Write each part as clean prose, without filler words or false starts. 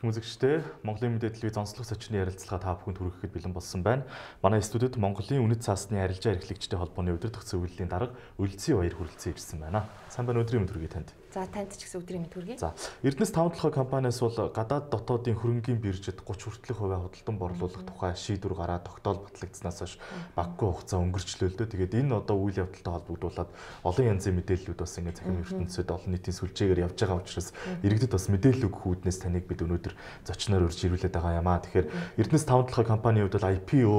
Эрхэм үзэгчдээ Монголын мэдээ телевиз онцлог зочны ярилцлага та бүхэнд хүрэхэд бэлэн болсон байна. Манай студид Монголын үнэт цаасны арилжаа эрхлэгчтэй холбооны удирдах зөвлөлийн дарга Үлзий Баяр хүрэлцэн ирсэн байна. Сайн байна, өдрийн мэнд хүргэе танд. За танд ч гэсэн өдрийн мэнд хүргэе. За, Эрдэнэс 5 компаниас бол гадаад дотоодын хөрөнгийн биржид 30 хүртэлх хувиа худалдан борлуулах тухай шийдвэр гараад тогтоол батлагдсанаас хойш баггүй хугацаа өнгөрчлөө л дээ. Тэгээд энэ одоо үйл явдалтай холбогдуулаад олон янзын мэдээллүүд бас ингэ захим ертөнцид олон нийтийн сүлжээгээр явж байгаа учраас иргэдэд бас мэдээлэл өгөх үүднээс таныг бид өнөөдөр зочноор урьж ирүүлээд байгаа юм аа. Тэгэхээр Эрдэнэс 5 компанийн хувьд бол IPO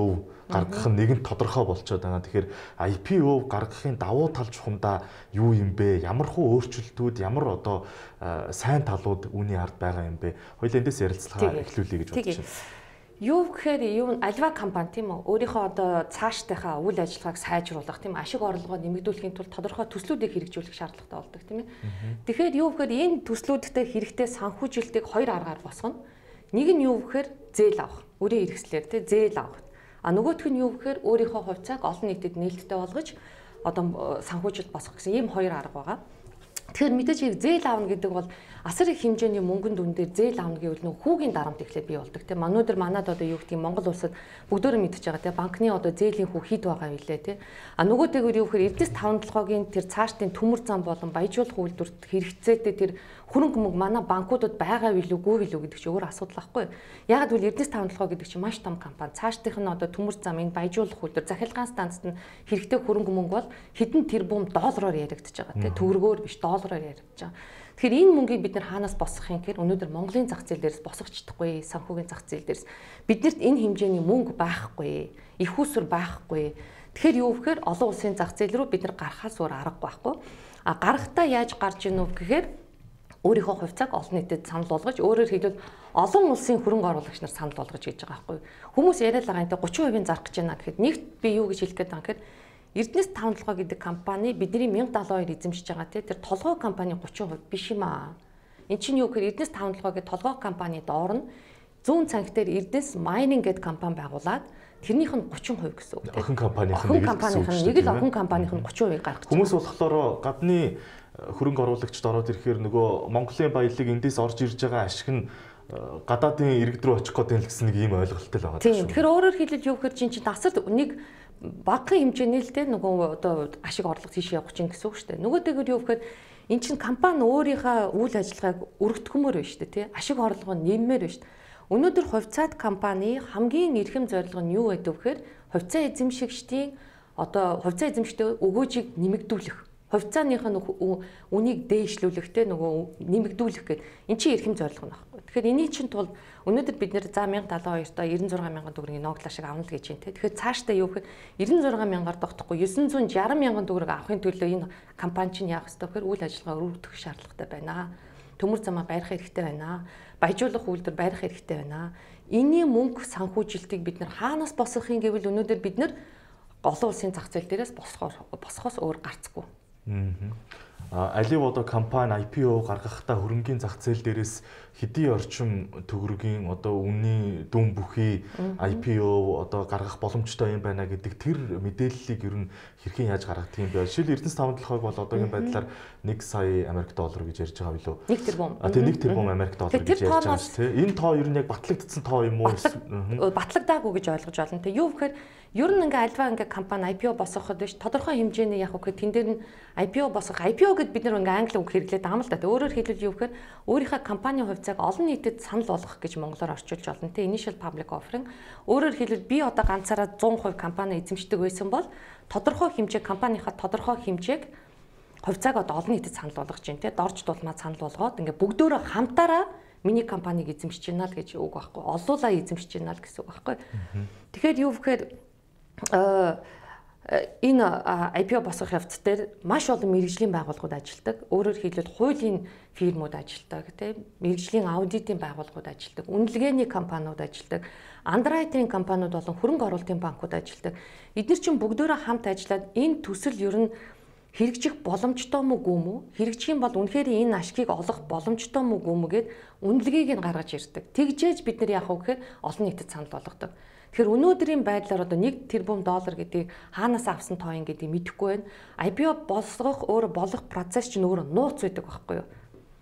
гаргах нь нэгэн тодорхой болчиход байгаа. Тэгэхээр IPO гаргахын давуу тал чухамдаа юу юм бэ? Ямар хуу өөрчлөлтүүд, ямар одоо сайн талууд үүний ард байгаа юм бэ? Хоёул эндээс ярилцлага эхлүүлье гэж бодож байна. Юу гэхээр юу альва компани тийм үү? Өөрийнхөө одоо цаашдынхаа үйл ажиллагааг сайжруулах тийм ашиг орлогоо нэмэгдүүлэхийн тулд тодорхой төслүүдийг хэрэгжүүлэх шаардлагатай болдог тийм ээ. Тэгэхээр юу гэхээр энэ төслүүдтэй хэрэгтэй санхүүжилтийг хоёр аргаар босгоно. Нэг нь юу гэхээр зээл авах. Өөрийн хэрэгслээр тийм зээл авах. А нөгөөх нь юу гэхээр өөрийнхөө хувьцааг олон нийтэд нээлттэй болгож одоо санхүүжилт босгох гэсэн ийм хоёр арга байгаа. Тэгэхээр мэдээж зээл аавна гэдэг бол асар их хэмжээний мөнгөнд дүн дээр зээл аавна гэвэл нөх хүүгийн дарамт эхлээд бий болдог тийм. Манайд одоо юу гэдэг Монгол улсад бүгдөө мэдчихэж байгаа тийм. Банкны одоо зээлийн хүү хэд байгаа вэ тийм. А нөгөөтэйгөр юу гэхээр Эрдэнэс 5-7-гийн тэр цаашдын төмөр зам болон баяжуулах үйлдвэрт хэрэгцээтэй тэр хөрөнгө мөнгө манай банкудад байгаа вэ үгүй вэ гэдэг чинь өөр асуудал байхгүй. Яг гэвэл Эрдэнэс 5-7 гэдэг чинь маш том компани. Цаашдынх нь одоо төмөр зам энэ баяжуулах үйлдвэр захиргаан станцд нь хэрэгтэй хөрөнгө мөнгө бол хэдэн тэрбум доллараар яригдчихэж байгаа тийм. Төгрөгөөр биш доллараар яригдчихэж байгаа. Тэгэхээр энэ мөнгийг бид нэр хаанаас босгох юм гэхээр өнөөдөр Монголын зах зээл дээрээс босгож чадахгүй, санхүүгийн зах зээл дээрээс биднэрт энэ хэмжээний мөнгө байхгүй, их усүр байхгүй. Тэгэхээр юу гэхээр олон улсын зах зээл рүү бид нар гарахаас өөр аргагүй байхгүй. А гарахтаа яаж гарч ийн вэ гэхээр өөрийнхөө хувьцааг олон нийтэд санал болгож, өөрөөр хэлбэл олон улсын хөрөнгө оруулагч нар санал болгож хийж байгаа байхгүй. Хүмүүс яриад байгаа энэ 30% зарах гэж байна гэхэд нэгт би юу гэж хэлэх гээд байгаа гэхээр Эрдэнэс 5 гэдэг компани бидний 1072 эзэмшиж байгаа тэр толгой компани 30% биш юм аа. Энд чинь юу гэхээр Эрдэнэс 5 гэдэг толгой компани доор нь зүүн цанх дээр Эрдэнэс Mining гэдэг компани байгуулад тэрнийх нь 30% гэсэн үг. Охин компанийн нэг л охин компанийх нь 30% гаргах. Хүмүүс болохоор гадны хөрөнгө оруулагчд ороод ирэхээр нөгөө Монголын баялаг эндээс орж ирж байгаа ашиг нь гадаадын иргэд рүү очих гэдэг л гэсэн нэг ийм ойлголттой л байгаа. Тийм. Тэгэхээр өөрөөр хэлбэл юу гэхээр чинь тасар нэг багахан хэмжээний л дээ нөгөө одоо ашиг орлого тийш явах чинь гэсэн үг шүү дээ. Нөгөөтэйгөр юу гэхээр эн чинь компани өөрийнхөө үйл ажиллагааг өргөтгмөр байна шүү дээ, тий. Ашиг орлого нь нэммээр байна шүү дээ. Өнөөдөр хувьцаат компани хамгийн эрхэм зорилго нь юу байдаг вэхээр хувьцаа эзэмшигчдийн одоо хувьцаа эзэмшигчдийн өгөөжийг нэмэгдүүлэх. Хувьцааных нь үнийг дээшлүүлэхтэй нөгөө нэмэгдүүлэх гэдэг эн чинь эрхэм зорилго нь байхгүй. Тэгэхээр энэний чинь тулд өнөөдөр бид нэр за 1072 та 96,000 төгрөгийн ноглоо шиг авна л гэж байна те. Тэгэхээр цаашдаа юу гэхээр 96,000-аар тогтохгүй 960,000 төгрөг авахын төлөө энэ компани чинь яах ёстой гэхээр үйл ажиллагаа өргөдөх шаардлагатай байна. Төмөр замаа барих хэрэгтэй байна. Баяжуулах үйлдвэр барих хэрэгтэй байна. Энийн мөнгө санхүүжилтийг бид нар хаанаас босгохын гэвэл өнөөдөр бид нар олон улсын зах зээл дээрээс босхоос өөр гарцгүй. Алив одоо компани IPO гаргахтаа хөрөнгийн зах зээл дээрээс хэдий орчим төгрөгийн одоо үнийн дүн бүхий IPO одоо гаргах боломжтой юм байна гэдэг тэр мэдээллийг ер нь хэрхэн яаж гаргадаг юм бэ? Жишээл Эрдэнэс 5-7 бол одоогийн байдлаар 1 сая Америк доллар гэж ярьж байгаа билүү? 1 тэрбум. Тэгээ 1 тэрбум Америк доллар гэж ярьж байгаа шүү дээ. Энэ тоо ер нь яг батлагдсан тоо юм уу? Батлагдаагүй гэж ойлгож байна. Тэгээ юу гэхээр ер нь ингээ альва ингээ компани IPO босгоход биш тодорхой хэмжээний яг үгүй тэн дээр нь IPO босгох. IPO гэд бид нар ингээ англи үг хэрэглээд байгаа юм л да. Өөрөөр хэлбэл юу гэхээр өөрийнхөө компанийн хувьцааг олон нийтэд санал болгох гэж монголоор орчуулж болно те. Initial public offering. Өөрөөр хэлбэл би одоо ганцаараа 100% компани эзэмшдэг байсан бол тодорхой хэмжээ компанийхаа тодорхой хэмжээг хувьцааг одоо олон нийтэд санал болгож чинь те. Дорж дулмаа санал болгоод ингээ бүгдөө хамтаараа миний компаниг эзэмшиж байна л гэж үг байхгүй. Олуулаа эзэмшиж байна л гэсэн үг байхгүй. Тэгэхээр юу гэхээр энэ IPO босгох явц дээр маш олон мэргэжлийн байгууллагууд ажилладаг. Өөрөөр хэлбэл хуулийн фирмүүд ажилладаг, тийм мэргэжлийн аудитын байгууллагууд ажилладаг, үнэлгээний компаниуд ажилладаг, андеррайтинг компаниуд болон хөрөнгө оруулалтын банкуд ажилладаг. Эдгээр чинь бүгдөө хамт ажиллаад энэ төсөл ер нь хэрэгжих боломжтой мүү гүм үү? Хэрэгжих юм бол үнэхээр энэ ашгийг олох боломжтой мүү гүм үгээд үнэлгээг нь гаргаж ирдэг. Тэгжээж бид нар яах вэ гэхээр олон нийтэд санал болгодог. Тэгэхээр өнөөдрийн байдлаар одоо 1 тэрбум доллар гэдгийг хаанаас авсан тоо юм гэдгийг мэдэхгүй байна. IPO босгох өөр болох процесс чинь өөрөө нууц байдаг байхгүй юу?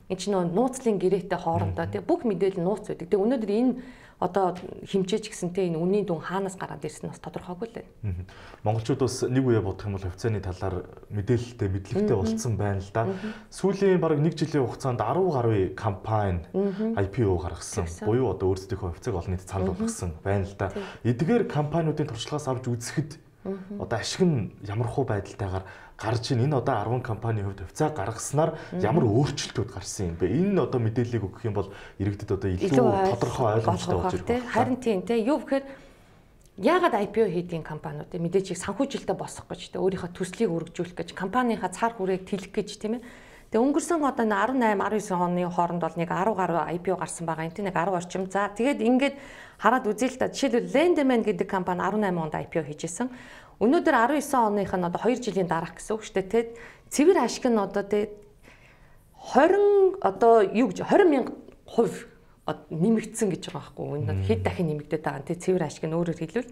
Энд чинь нууцлын гэрээтэй хоорондоо тий бүх мэдээлэл нууц байдаг. Тэгээ өнөөдөр энэ одоо хэмжээч гэсэнтэй энэ үнийн дүн хаанаас гараад ирсэн нь бас тодорхойгүй л байна. Монголчууд бас нэг үе бодох юм бол хувьцааны талаар мэдээлэлтэй, мэдлэгтэй болцсон байна л да. Сүүлийн бараг 1 жилийн хугацаанд 10 гаруй компани IPO гаргасан. Буюу одоо өөрсдийнхөө хувьцааг олон нийтэд санал болгосон байна л да. Эдгээр компаниудын туршлагаас авч үзэхэд одоо ашиг нь ямархуу байдалтайгаар гарч ийн энэ одоо 10 компанийн хувьд хувьцаа гаргаснаар ямар өөрчлөлтүүд гарсан юм бэ? Энэ одоо мэдээллийг өгөх юм бол иргэдэд одоо илүү тодорхой ойлгомжтой болж ирэх байна. Харин тийм те юу гэхээр яагаад IPO хийдийн компаниуд мэдээчийг санхүүжилтөд босгох гэж те өөрийнхөө төслийг өргөжүүлэх гэж компанийнхаа цар хүрээг тэлэх гэж тийм ээ. Тэгээ өнгөрсөн одоо 18 19 оны хооронд бол нэг 10 гаруй IPO гарсан байгаа юм тийм нэг 10 орчим. За тэгээд ингээд хараад үзье л да. Жишээлбэл Lendman гэдэг компани 18 онд IPO хийжсэн. Өнөөдөр 19 оных нь одоо 2 жилийн дараах гэсэн үг шүү дээ. Тэгэд цэвэр ашиг нь одоо тэгээд 20 одоо юу гэж 20,000% нэмэгдсэн гэж байгаа байхгүй. Өнөөдөр хэд дахин нэмэгдээд байгаа. Тэгээд цэвэр ашиг нь өөрөөр хэлбэл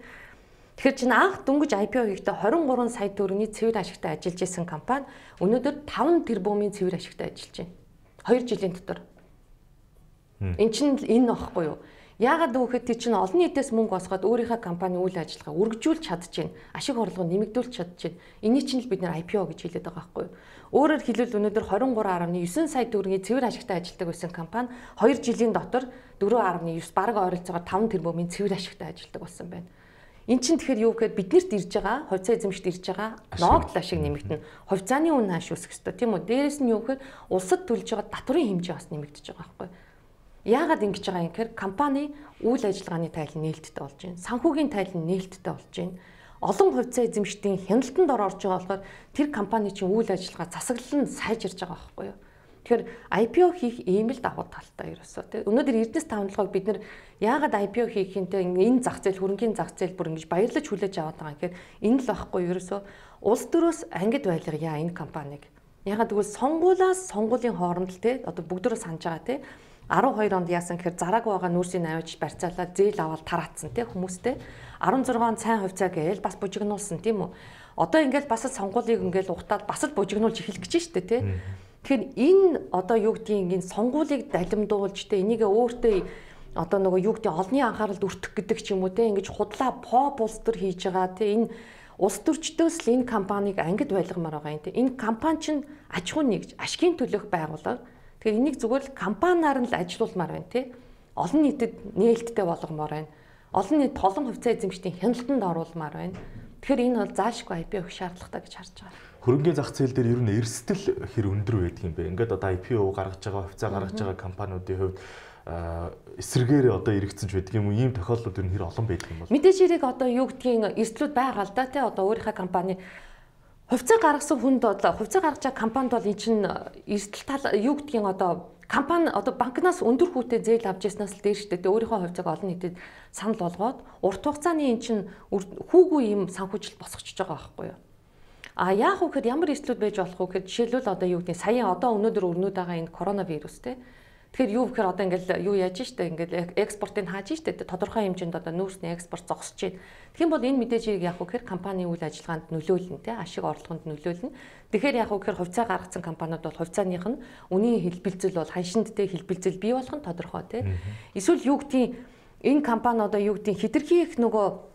тэгэхээр чинь анх дөнгөж IPO хийхдээ 23 сая төгрөгийн цэвэр ашигтай ажиллаж исэн компани өнөөдөр 5 тэрбумын цэвэр ашигтай ажиллаж байна. 2 жилийн дотор. Энд чинь энэ багхгүй юу? Яагаад гэвэл тий чинь олон нийтээс мөнгө босгоод өөрийнхөө компани үйл ажиллагаа үргэлжлүүлж чадчихээн. Ашиг орлого нэмэгдүүлж чадчихээн. Энийг чинь л бид нэр IPO гэж хэлээд байгаа байхгүй юу? Өөрөөр хэлбэл өнөөдөр 23.9 сая төгрөгийн цэвэр ашигтай ажилладаг байсан компани 2 жилийн дотор 4.9 бараг ойролцоогоор 5 тэрбумын цэвэр ашигтай ажилладаг болсон байна. Энд чинь тэгэхээр юу гэхээр биднэрт ирж байгаа хувьцаа эзэмшид ирж байгаа ногдол ашиг нэмэгдэнэ. Хувьцааны үн хааш үүсэх ёстой тийм үү? Дээрээс нь юу гэхээр улсад төлж байгаа татврын хэмжээ бас нэмэгдэж байгаа байхгүй юу? Яагаад ингэж байгаа юм гэхээр компани үйл ажиллагааны тайл нээлттэй болж байна. Санхүүгийн тайл нээлттэй болж байна. Олон хувьцаа эзэмшдийн хяналтанд орж байгаа болохоор тэр компани чинь үйл ажиллагаа засаглал нь сайжирж байгаа байхгүй юу? Тэгэхээр IPO хийх ийм л давуу талтай ерөөсөө тийм. Өнөөдөр Эрдэнэс тавталгааг бид нэр яагаад IPO хийхинтэй энэ зах зээл хөрөнгөний зах зээл бүр ингэж баярлаж хүлээж аваад байгаа юм гэхээр энэ л байхгүй ерөөсөө улс төрөөс ангид байлгая энэ компаниг. Яагаад гэвэл сонгуулийн хооронд л тийм одоо бүгдөө санаж байгаа тийм 12 онд яасан гэхээр зараг байгаа нүүрсийн авиж барьцаалаад зээл аваад тараацсан тийм хүмүүстэй 16 он сайн хувьцаа гээл бас бужигнуулсан тийм үү. Одоо ингээл бас сонгуулийг ингээл ухтаад бас л бужигнуулж эхэлж гэж штэ тийм. Тэгэхээр энэ одоо юу гэдгийг энэ сонгуулийг далимдуулж тэ энийгээ өөртөө одоо нөгөө юу гэдэг олонний анхааралд өртөх гэдэг ч юм уу те ингэж худлаа pop улс төр хийж байгаа те энэ улс төрчдөөс л энэ компанийг ангид байлгамаар байгаа юм те энэ компани чинь аж ахуйн нэгж ашигын төлөх байгууллага. Тэгэхээр энийг зүгээр л компаниар нь л ажилуулмаар байна те олон нийтэд нээлттэй болгомоор байна. Олон нийт толон хувьцаа эзэмшдийн хяналтанд оруулмаар байна. Тэгэхээр энэ бол заашгүй IPO хийх шаардлагатай гэж харж байгаа. Хөрөнгөний зах зээл дээр ер нь эрсдэл хэр өндөр байдаг юм бэ? Ингээд одоо IPO гаргаж байгаа, хувьцаа гаргаж байгаа компаниудын хувьд эсрэгээр одоо эргэцэн ч байдаг юм уу? Ийм тохиолдлууд ер нь хэр олон байдаг юм бол? Мэдээж хэрэг одоо юу гэдгийг эрсдлүүд байгаа л да тий одоо өөрийнхөө компани хувьцаа гаргасан хүнд одоо хувьцаа гаргаж байгаа компанид бол эн чинь эрсдэл тал юу гэдгийг одоо компани одоо банкнаас өндөр хүүтэй зээл авч яснаас л дээр штэ. Тэгээ өөрийнхөө хувьцааг олон нийтэд санал болгоод урт хугацааны эн чинь хүүгүй юм санхүүжилт босгочихж байгаа байхгүй юу? А яах вэ гэхээр ямар эрсдлүүд байж болох вэ гэхээр жишээлбэл одоо юу гэдэг саяхан одоо өнөөдөр өрнөд байгаа энэ коронавирус те. Тэгэхээр юу гэхээр одоо ингээл юу яаж штэ ингээл экспортыг хааж штэ тодорхой хэмжээнд одоо нүүрсний экспорт зогсож байна. Тэгэх юм бол энэ мэдээжийг яах вэ гэхээр компани үйл ажиллагаанд нөлөөлнө те ашиг орлогонд нөлөөлнө. Тэгэхээр яах вэ гэхээр хувьцаа гаргасан компаниуд бол хувьцааных нь үнийн хэлбэлзэл бол ханшиндтэй хэлбэлзэл бий болох нь тодорхой те. Эсвэл юу гэдгийг энэ компани одоо юу гэдгийг хэтэрхий их нөгөө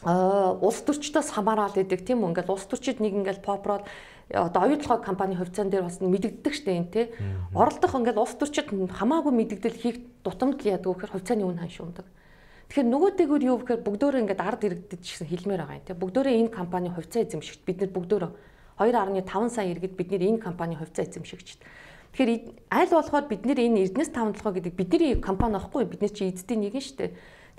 улс төрчдөөс хамаарал идэг тийм үү ингээл улс төрчид нэг ингээл попрод одоо оюутлогоо компани хувьцаан дээр бас мэдэгддэг штэ энэ тий оролдох ингээл улс төрчид хамаагүй мэдэгдэл хийх дутамд л яадаг гэхээр хувьцааны үн ханш ундаг. Тэгэхээр нөгөөтэйгөр юу гэхээр бүгдөө ингээд ард иргэдэд гэсэн хэлмээр байгаа юм тий бүгдөө энэ компани хувьцаа эзэмшигч бид нар бүгдөө 2.5 сая иргэд бид нар энэ компани хувьцаа эзэмшигч. Тэгэхээр аль болохоор бид нар энэ Эрдэнэс тавталгаа гэдэг бидний компани аахгүй бид нар чи эзэдийн нэг нь штэ.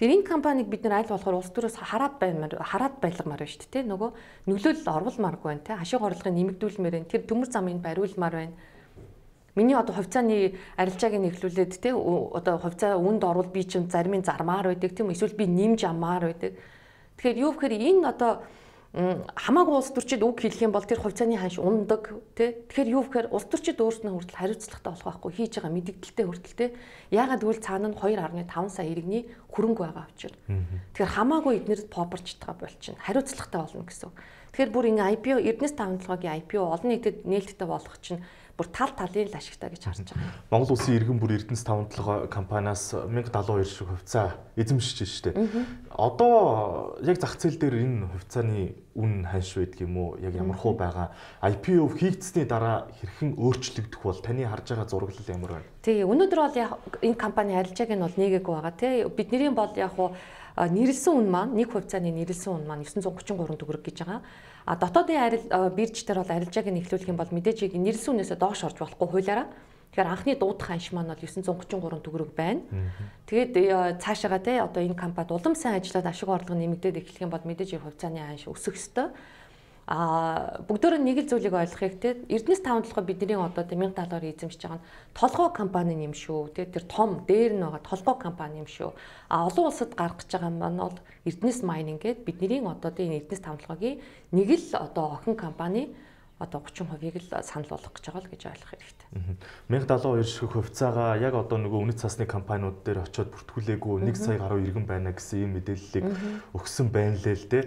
Тэр энэ компанийг бид нар аль болохоор улс төрөөс хараад байлгамаар байна шүү дээ. Нөгөө нөлөөлөл оруулмааргүй байна те. Ашиг орлогыг нэмэгдүүлмээр байна. Тэр төмөр замыг бариулмаар байна. Миний одоо хувьцааны арилжааг нь эхлүүлээд те одоо хувьцаа үнд орвол би чинь зарим нь зармаар байдаг тийм эсвэл би нэмж аммаар байдаг. Тэгэхээр юу гэхээр энэ одоо хамаагүй улс төрчид үг хэлэх юм бол тэр хувьцааны ханш ундаг тий. Тэгэхээр юу гэхээр улс төрчид өөрснөө хүртэл хариуцлагатай болох байхгүй хийж байгаа мэдэгдэлтэй хүртэл тий. Яагаад гэвэл цаана нь 2.5 сая иргэний хөрөнгө байгаа учраас. Тэгэхээр хамаагүй эднэрд попорч байгаа болчихно. Хариуцлагатай болно гэсэн. Тэгэхээр бүр ингээ IPO Эрдэнэс тавталгаагийн IPO олон нийтэд нээлттэй болох чинь бүр тал талын л ашигтай гэж харж байгаа. Монгол Улсын иргэн бүр Эрдэнэс 5-7 компаниас 1072 шиг хувьцаа эзэмшиж штэ. Одоо яг зах зээл дээр энэ хувьцааны үн ханш байдаг юм уу? Яг ямар хуу байгаа? IPO хийгдсэний дараа хэрхэн өөрчлөгдөх бол таны харж байгаа зураглал ямар байна? Тий, өнөөдөр бол яг энэ компани арилжааг нь бол нийгээгүй байгаа тий. Бидний бол яг хуу нэрлсэн үн маань нэг хувьцааны нэрлсэн үн маань 933 төгрөг гэж байгаа. А дотоодын бирж дээр бол арилжааг нь эхлүүлэх юм бол мэдээж нэрлсэн үнээсээ доош орж болохгүй хуулиараа. Тэгэхээр анхны дуудах ханш маань бол 933 төгрөг байна. Тэгээд цаашаага те одоо энэ компанид улам сайн ажиллаад ашиг орлого нэмэгдээд эхлэх юм бол мэдээж хувьцааны ханш өсөх ёстой. Бүгдөө нэг л зүйлийг ойлгохыг те Эрдэнэс 5-7 бидний одоо 1070-аар эзэмшиж байгаа нь толгой компани юм шүү. Те тэр том дээр нь байгаа толгой компани юм шүү. Олон улсад гаргаж байгаа маань бол Эрдэнэс Mining гэдэг бидний одоо энэ Эрдэнэс 5-7-гийн нэг л одоо охин компани одоо 30%-ийг л санал болгох гэж байгаа л гэж ойлгох хэрэгтэй. 1072 шиг хувьцаагаа яг одоо нөгөө үнэт цасны компаниуд дээр очиод бүртгүүлээгүй 1 сая гаруй иргэн байна гэсэн ийм мэдээллийг өгсөн байна лээ л дээ.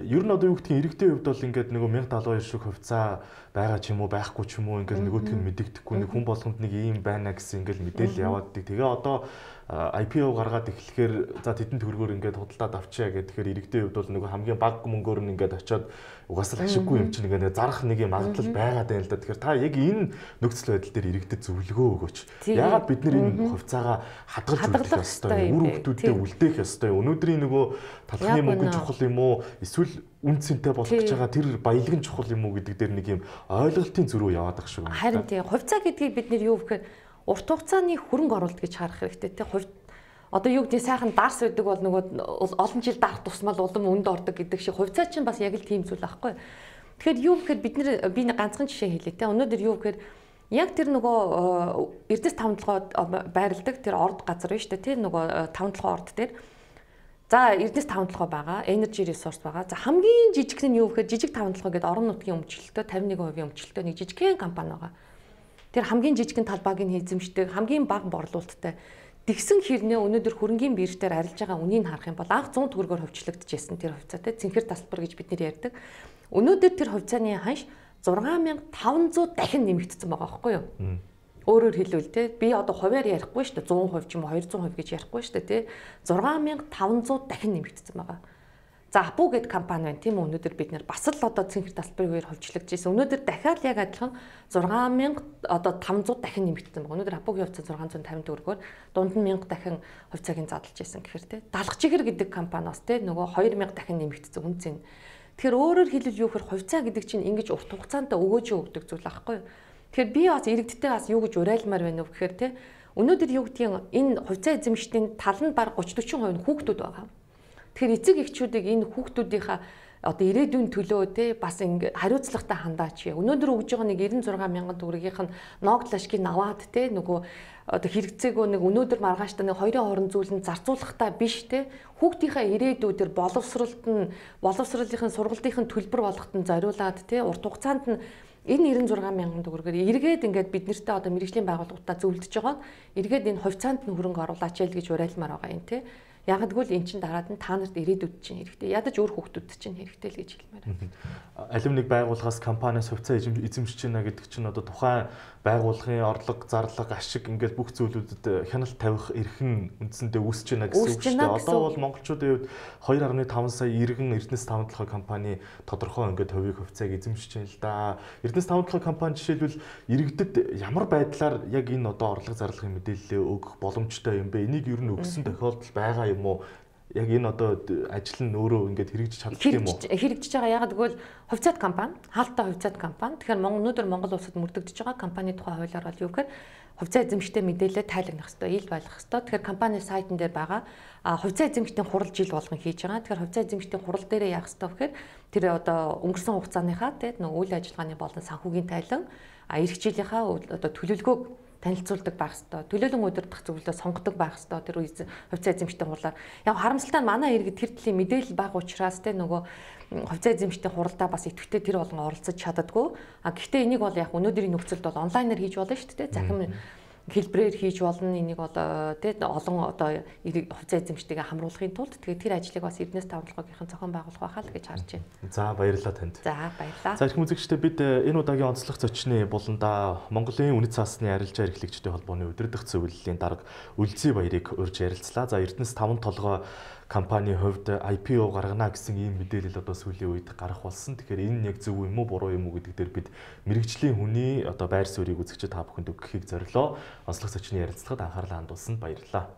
Ер нь одоо юу гэдгийг иргэдийн хувьд бол ингээд нөгөө 1072 шиг хувьцаа байгаа ч юм уу байхгүй ч юм уу ингээд нөгөөдг нь мэдэгдэхгүй нэг хүн болгонд нэг ийм байна гэсэн ингээд мэдээлэл яваад dig. Тэгээ одоо IPO гаргаад эхлэхээр за тэдэн төгрөгөөр ингээд худалдаад авчаа гэхээр иргэдийн хувьд бол нөгөө хамгийн бага мөнгөөр нь ингээд очиод угаасаа ашиггүй юм чинь ингээд зарах нэг юм магадлал байгаад байна л да. Тэгэхээр та яг энэ нөхцөл байдал дээр иргэдэд зөвлөгөө өгөөч. Яагаад бид нэр энэ хувьцаагаа хадгалж үлдэх ёстой, үр хөвгтүүдэд үлдээх ёстой. Өнөөдрийн нөгөө талхны мөнгө чухал юм уу? Эсвэл үн цэнтэй болох гэж байгаа тэр баялаг нь чухал юм уу гэдэг дээр нэг юм ойлголтын зөрүү яваад байгаа шүү. Харин тийм хувьцаа гэдгийг бид нэр юу гэхээр урт хугацааны хөрөнгө оруулалт гэж харах хэрэгтэй те. Одоо юу гэдэг сайхан дарс байдаг бол нөгөө олон жил дарах тусмал улам өнд ордог гэдэг шиг хувьцаа чинь бас яг л тийм зүйл аахгүй. Тэгэхээр юу гэхээр би нэг ганцхан жишээ хэлье те. Өнөөдөр юу гэхээр яг тэр нөгөө Эрдэнэс 5-7 байрладаг тэр орд газар биш те. Тэр нөгөө 5-7 орд дээр за Эрдэнэс 5-7 байгаа, energy resource байгаа. За хамгийн жижиг нь юу гэхээр жижиг 5-7 гэдэг орон нутгийн өмчлөлтөө 51% өмчлөлтөө нэг жижигхэн компани байгаа. Тэр хамгийн жижигхэн талбайг нь эзэмшдэг, хамгийн бага борлуулалттай. Тэгсэн хэрнээ өнөөдөр хөрөнгийн бирж дээр арилж байгаа үнийг харах юм бол анх 100 төгрөгөөр хөвчлөгдөжсэн тэр хувьцаатай цэнхэр тасалбар гэж бид нэр ярьдаг. Өнөөдөр тэр хувьцааны ханш 6500 дахин нэмэгдсэн байгаа байхгүй юу? Өөрөөр хэлбэл те би одоо хувиар ярихгүй шүү дээ 100% ч юм уу 200% гэж ярихгүй шүү дээ те 6500 дахин нэмэгдсэн байгаа. За Апу гэдэг компани байна тийм үү өнөөдөр бид нэр бас л одоо цэнхэр тасалбарын үеэр хөвчлөгдөж ирсэн. Өнөөдөр дахиад яг адилхан 6000 одоо 500 дахин нэмэгдсэн байгаа. Өнөөдөр Апугийн хувьцаа 650 төгрөгөөр дунд нь 1000 дахин хувьцааг нь задлж ирсэн гэхээр те Далах Жигэр гэдэг компани бас те нөгөө 2000 дахин нэмэгдсэн үн цэн. Тэгэхээр өөрөөр хэлбэл юу гэхээр хувьцаа гэдэг чинь ингэж урт хугацаанд өгөөж өгдөг зүйл аахгүй юу? Тэгэхээр би бас иргэдтэй бас юу гэж уриалмаар байна вэ гэхээр те өнөөдөр юу гэдгийг энэ хувьцаа эзэмшдийн тал нь баг 30-40% нь хүүхдүүд байгаа. Тэгэхээр эцэг эхчүүдийг энэ хүүхдүүдийнхаа одоо ирээдүйн төлөө те бас ингэ хариуцлагатай хандаач. Өнөөдөр өгж байгаа нэг 96 мянган төгрөгийнх нь ноогдлашкийг аваад те нөгөө одоо хэрэгцээгөө нэг өнөөдөр маргааштай нэг хоёрын хооронд зүйлэнд зарцуулахтаа биш те хүүхдийнхаа ирээдүйдэр боловсролынхын сургалтынхын төлбөр болгоход нь зориулаад те урт хугацаанд нь энэ 96 мянган төгрөгөөр эргээд ингээд бид нартай одоо мэргэжлийн байгууллагуудаа зөвлөдөж байгаа. Эргээд энэ хувьцаанд нь хөрөнгө оруулаач яа гэж уриалмаар байгаа юм те. Ягдгүйл эн чин дараад нь та нарт ирээдүйд чинь хэрэгтэй. Ядаж өөр хүүхдүүд чинь хэрэгтэй л гэж хэлмээр байна. Алим нэг байгууллагаас компаниас хувьцаа эзэмшиж байна гэдэг чинь одоо тухайн байгууллагын орлого, зарлага, ашиг ингээд бүх зүйлүүдэд хяналт тавих эрхэн үндсэндээ үүсэж байна гэсэн үг шүү дээ. Одоо бол монголчуудын хувьд 2.5 сая иргэн Эрдэнэс 5-7 компани тодорхой ингээд хувийг хувьцааг эзэмшиж байна л да. Эрдэнэс 5-7 компани жишээлбэл иргэдэд ямар байдлаар яг энэ одоо орлого, зарлагын мэдээлэл өгөх боломжтой юм бэ? Энийг ер нь өгсөн тохиолдол байгаа юм уу? Яг энэ одоо ажил нь өөрөө ингээд хэрэгжиж чаддаг юм уу? Хэрэгжиж байгаа. Яг гэвэл хувьцаат компани, хаалттай хувьцаат компани. Тэгэхээр өнөөдөр Монгол улсад мөрдөгдөж байгаа компани тухай хуулиар бол юу гэхээр хувьцаа эзэмштэй мэдээлэл тайлагнах хэрэгтэй, ил байлгах хэрэгтэй. Тэгэхээр компани сайтн дээр байгаа хувьцаа эзэмштийн хурал жил болгон хийж байгаа. Тэгэхээр хувьцаа эзэмштийн хурал дээрээ яах хэрэгтэй гэхээр тэр одоо өнгөрсөн хугацааныхаа тийм нэг үйл ажиллагааны болон санхүүгийн тайлан эх жилийнхаа одоо төлөвлөгөөг танилцуулдаг байх хэвээр. Төлөөлөн удирдах зөвлөлөө сонгодог байх хэвээр. Тэр хувьцаа эзэмштийн хурлаар. Яг харамсалтай нь манай иргэд тэр төлөлийн мэдээлэл бага учраас те нөгөө хувьцаа эзэмштийн хуралдаа бас идэвхтэй тэр болгон оролцож чаддаггүй. Гэхдээ энийг бол яг өнөөдрийн нөхцөлд бол онлайнаар хийж болно шүү дээ. Захим хэлбэрээр хийж болно. Энийг одоо тий олон одоо хувьцаа эзэмштэйгээ хамруулахын тулд тэгээд тэр ажлыг бас Эрдэнэс 5-7-гийн зохион байгуулах байхаа л гэж харж байна. За баярлалаа танд. За баярлалаа. За их үзэгчдээ бид энэ удаагийн онцлог зочны буландаа Монголын үнэт цаасны арилжаа эрхлэгчдийн холбооны удирдах зөвлөлийн дарга Үлзий Баярыг урьж ярилцлаа. За Эрдэнэс 5-7 компанийн хувьд IPO гаргана гэсэн ийм мэдээлэл одоо сүүлийн үед гарах болсон. Тэгэхээр энэ яг зөв юм уу буруу юм уу гэдэг дээр бид мэрэгжлийн хүний одоо байр суурийг үзэгчид та бүхэнд өгөхийг зорилоо. Онцлог зочны ярилцлагад анхаарлаа хандуулсанд баярлалаа.